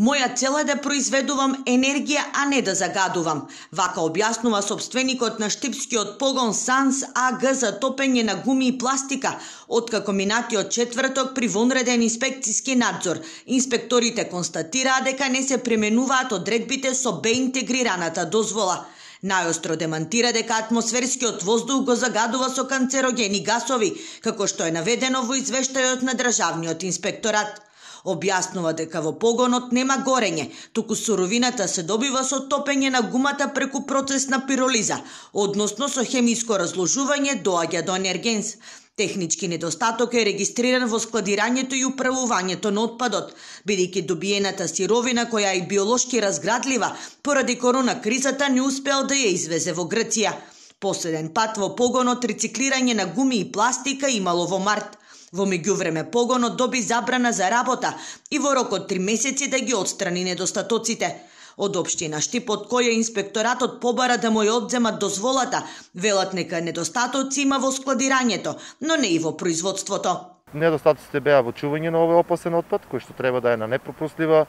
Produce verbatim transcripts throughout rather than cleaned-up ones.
Моја цел е да произведувам енергија, а не да загадувам. Вака објаснува собственикот на штипскиот погон Санс АГ за топење на гуми и пластика, откако минатиот четврток при вонреден инспекциски надзор. Инспекторите констатираа дека не се применуваат одредбите со Б интегрираната дозвола. Најостро демантира дека атмосферскиот воздух го загадува со канцерогени гасови, како што е наведено во извештајот на Државниот инспекторат. Објаснува дека во погонот нема горење, туку суровината се добива со топење на гумата преку процес на пиролиза, односно со хемиско разложување доаѓа до енергенс. Технички недостаток е регистриран во складирањето и управувањето на отпадот, бидејќи добиената сировина која е биолошки разградлива, поради корона кризата не успеал да ја извезе во Грција. Последен пат во погонот рециклирање на гуми и пластика имало во март. Во меѓувреме погонот доби забрана за работа и во рок од три месеци да ги отстрани недостатоците. Од општина Штип, од која инспекторатот побара да му ја одземат дозволата, велат нека недостатоци има во складирањето, но не и во производството. Недостатоците беа во чување на овој опасен отпад, кој што треба да е на непропуслива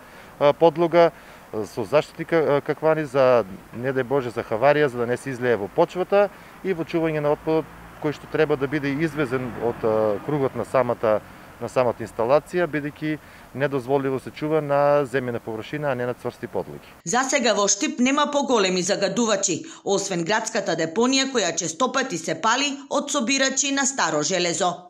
подлога, со заштити каквани за, не дај Боже, за хаварија, за да не се излее во почвата, и во чување на отпадот кој што треба да биде извезен од кругот на самата на самата инсталација, бидејќи недозволиво се чува на земјена површина, а не на цврсти подлоги. За сега во Штип нема поголеми загадувачи, освен градската депонија која честопати се пали од собирачи на старо железо.